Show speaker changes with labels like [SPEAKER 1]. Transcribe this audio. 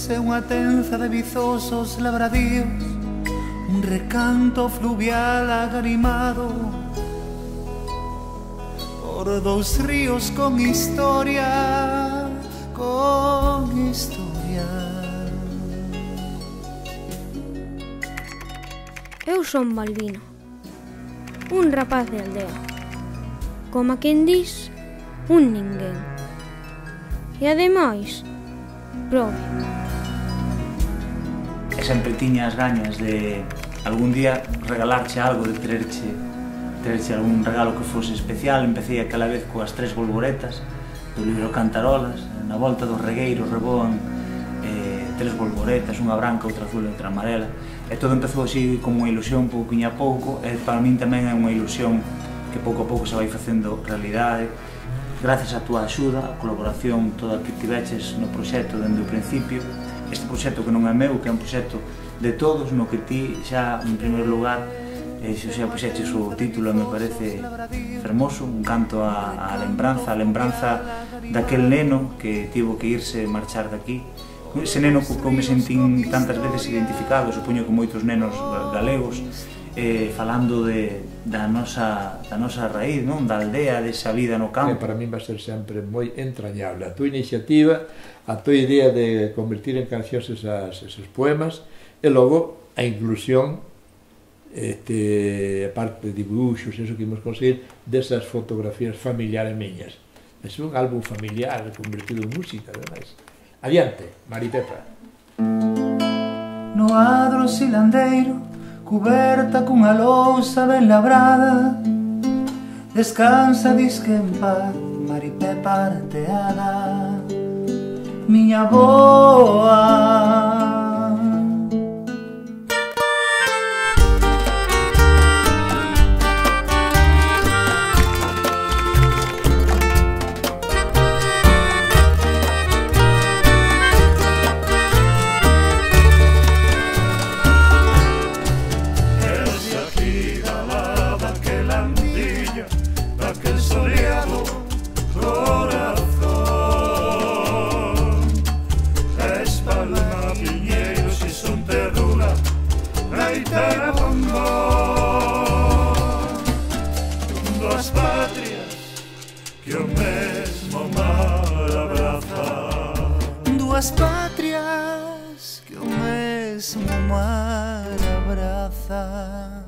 [SPEAKER 1] e unha tenza de vizosos labradíos, un recanto fluvial agarimado por dous ríos con historia, con historia.
[SPEAKER 2] Eu son Balbino, un rapaz de aldea, como a quen dis, un ninguén. E ademais, prove.
[SPEAKER 3] E sempre tiña as gañas de algún día regalarche algo, de traerche algún regalo que fose especial. Empecé aquela vez coas 3 bolboretas do libro Cantarolas. Na volta do regueiro reboan 3 bolboretas, unha branca, outra azul e outra amarela. E todo empezou así como unha ilusión pouquiño a pouco, e para min tamén é unha ilusión que pouco a pouco se vai facendo realidade. Gracias á túa axuda, a colaboración toda que tiveches no proxecto dende o principio, este proxecto que non é meu, que é un proxecto de todos, no que ti xa, en primeiro lugar, xa puxeches o título, me parece fermoso, un canto á lembranza daquel neno que tivo que irse marchar daqui. Ese neno co que me sentín tantas veces identificado, supoño que moitos nenos galegos, falando da nosa raíz, da aldea, desa vida no campo.
[SPEAKER 4] Para min vai ser sempre moi entrañable a tua iniciativa, a tua idea de convertir en cancións esos poemas, e logo a inclusión, a parte de dibuixos, eso que imos conseguir, desas fotografías familiares miñas. É un álbum familiar convertido en música, ademais. Adiante, Mari Pepa.
[SPEAKER 1] No adro silandeiro, cuberta cunha lousa ben labrada, descansa disque en paz Mari Pepa arteada, miña boa. Duas patrias que o mesmo mar abraza, duas patrias que o mesmo mar abraza.